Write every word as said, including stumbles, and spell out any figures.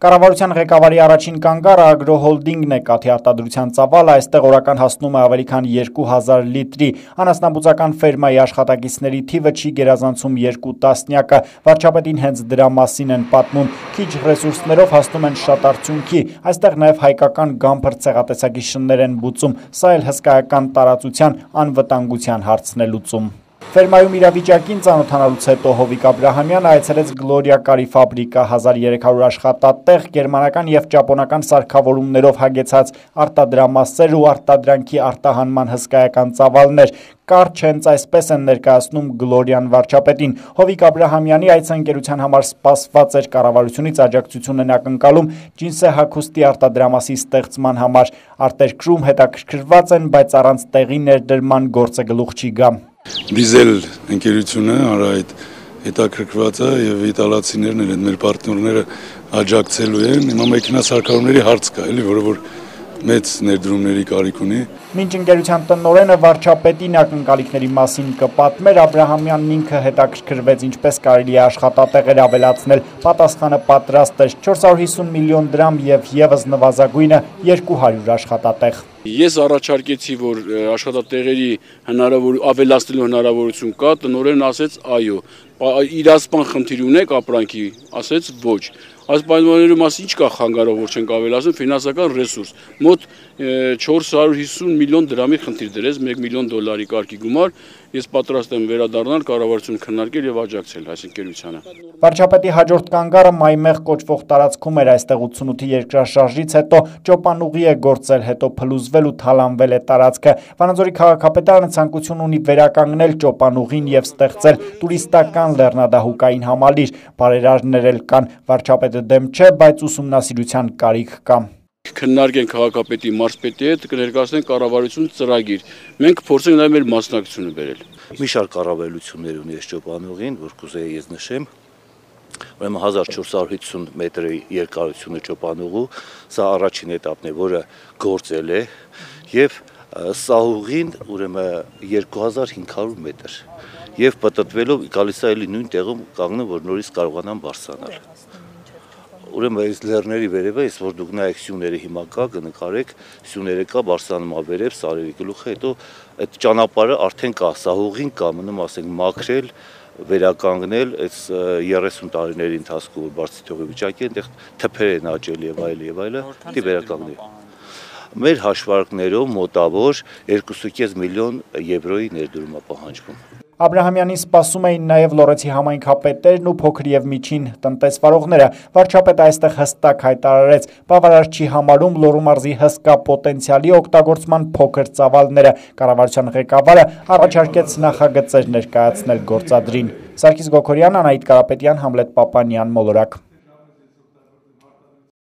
Կառավարության ղեկավարի առաջին կանգառը ագրոհոլդինգն է կաթի արտադրության ծավալը, այստեղ օրական հասնում է ավելի քան երկու հազար լիտրի, անասնաբուծական ֆերմայի աշխատակիցների թիվը չի գերազանցում երկու տասնյակը, վարչապետին հենց դրա մասին են պատմում, քիչ ռեսուրսներով հասնում են շատ արդյունքի, այստեղ նաև հայկական գամբր ցեղատեսակի շններ են բուծում, սա էլ հսկայական տարածության անվտանգության հարցն է լուծում։ Ֆերմայում իրավիճակին ծանոթանալուց հետո Հովիկ Աբրահամյանը այցելեց Գլորիա կարի ֆաբրիկա, հազար երեք հարյուր աշխատատեղ, գերմանական և ճապոնական սարքավորումներով հագեցած արտադրամասեր ու արտադրանքի արտահանման հսկայական ծավալներ, կարճ հենց այսպես են ներկայացնում Գլորիան վարչապետին։ Հովիկ Աբրահամյանի այցընկերության համար սպասված էր, կառավարությունից աջակցություն են ակնկալում ջինսե հագուստի արտադրամասի ստեղծման համար, արտերկրում հետաքրքրված են, բայց առանց տեղի ներդրման գործը գլուխ չի գա։ Դիզել ընկերությունը հանրայդ հետաքրքրված է եւ իտալացիներն են, մեր պարտներները աջակցելու են։ Հիմա մեքենասարքավորումների հարց կա, էլի, որը որ մեծ ներդրումների կարիք ունի։ Մինչ ընկերության տնօրենը վարչապետին ակնկալիքների մասին կպատմեր, Աբրահամյանն ինքը հետաքրքրվեց ինչպես կարելի է աշխատատեղեր ավելացնել, պատասխանը պատրաստ էր չորս հարյուր հիսուն միլիոն դրամ եւ եւս նվազագույնը երկու հարյուր աշխատատեղ։ Ես առաջարկեցի, որ աշխատատեղերի հնարավոր ավելացնելու հնարավորություն կա, տնօրենն ասեց այո, իրացման խնդիր ունեք ապրանքի, ասեց ոչ։ Այս պայմանների մասին ինչ կա խանգարող, որ չենք ավելացնում, ֆինանսական ռեսուրս, մոտ չորս հարյուր հիսուն միլիոն դրամի խնդիր դրեց, մեկ միլիոն դոլարի կարգի գումար, ես պատրաստ եմ վերադառնալ, կառավարություն քննարկել եւ աջակցել այս ընկերությանը։ Վարչապետի հաջորդ կանգառը Մայմեղ կոչվող տարածքում էր, այստեղ ութսունութի երկրաշարժից հետո ճոպանուղի է գործել, հետո փլուզվել ու թալանվել է տարածքը։ Վանաձորի քաղաքապետարանը ցանկություն ունի վերականգնել ճոպանուղին եւ ստեղծել տուրիստական լեռնադահուկային համալիր, բարերարներ էլ կան, վարչապետը դեմ չէ, բայց ուսումնասիրության կարիք կա։ Քննարկենք քաղաքապետի մարզպետի հետ, կներկայացնենք կառավարություն ծրագիր։ Մենք փորձենք նաև մեր մասնակցությունը բերել։ Մի շարք կառավարություններ ունի այս ճոպանուղին, որ կուզեի ես նշեմ։ Ուրեմն հազար չորս հարյուր հիսուն մետրի երկարությունը ճոպանուղու, սա առաջին էտապն է, որը գործել է, եւ սահուղին ուրեմն երկու հազար հինգ հարյուր մետր։ Եվ պտտվելով գալիս է էլի նույն տեղում կանգնում, որ նորից կարողանան բարձրանալ։ Ուրեմն այս լեռների վերևը, ես որ դուք նայեք սյուները հիմա կա, կնկարեք, սյուները կա, բարձրանում է վերև, սարերի գլուխը, հետո այդ ճանապարհը արդեն կա, սահուղին կա, մնում ասենք մաքրել, վերականգնել, այս երեսուն տարիների ընթացքում որ բարձր թողի վիճակի այնտեղ թփեր են աճել եւ այլ եւ այլը, դի վերականգնել։ Մեր հաշվարկներով մոտավոր երկու կόμma պենս միլիոն եվրոյի ներդրում է պահանջվում։ Աբրահամյանին սպասում էին նաև Լոռեցի համայնքապետերն ու փոքր եւ միջին տնտեսվարողները։ Վարչապետը այստեղ հստակ հայտարարեց, բավարար չի համարում Լոռու մարզի հսկա պոտենցիալի օգտագործման փոքր ծավալները։ Կառավարության ղեկավարը առաջարկեց նախագծեր ներկայացնել գործադրին։ Սարգիս Գոքորյան, Անահիտ Կարապետյան, Համլետ Պապանյան, Մոլորակ։